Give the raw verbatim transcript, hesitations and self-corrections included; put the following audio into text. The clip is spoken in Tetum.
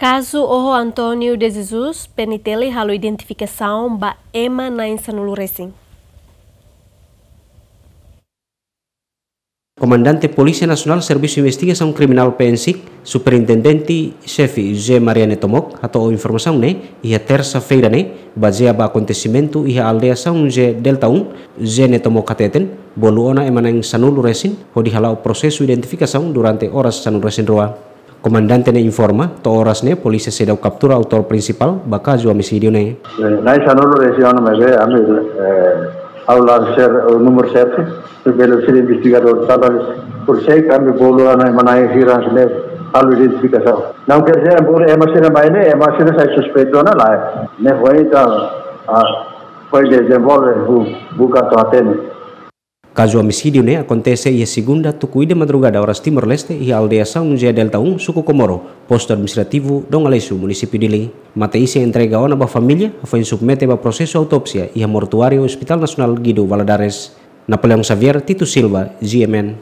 Kazu oho António de Jesus, P N T L halo identifikasaun ba ema na'in sanulu resin. Komandante Polísia Nasionál Servisu Investigasaun Kriminál, P N SIK, Superintendente Xefe José Maria Netomok hato'o informasaun ne'e iha tersa-feira ne'e, bazeia ba akontesimentu iha aldeia São José Delta um. José Netomok hateten, bolu ona ema na'in sanulu resin hodi hala'o prosesu identifikasaun durante oras sanulu resin rua. Komandante ne'e informa, to'o oras ne'e polísia seidauk kaptura autór prinsipál ba kazu omisídiu ne'e. Eh, na'in sanulu resin ona maibé ami, eh, halo ser, eh, númeru sete, bele ser investigadór tanba por sei kami bolu ona ema na'in hira ne'e halo identifikasaun. Não quer dizer, embora ema sira mai ne'e, ema sira sai suspeitu ona lae. Ne'e foin ita, ah, foin dezenvolve bu-, buka to'o hatene. Kazu omisídiu ne'e akontese iha segunda tuku ida madrugada oras Timor-Leste iha aldeia São José Delta um, suku Comoro, postu administrativu Dom Aleixo, munisípiu Dili. Mate-isin entrega ona ba família, hafoin submete ba prosesu autópsia iha mortuáriu Hospital Nasionál Guido Valadares. Napoleão Xavier, Tito Silva, G M N.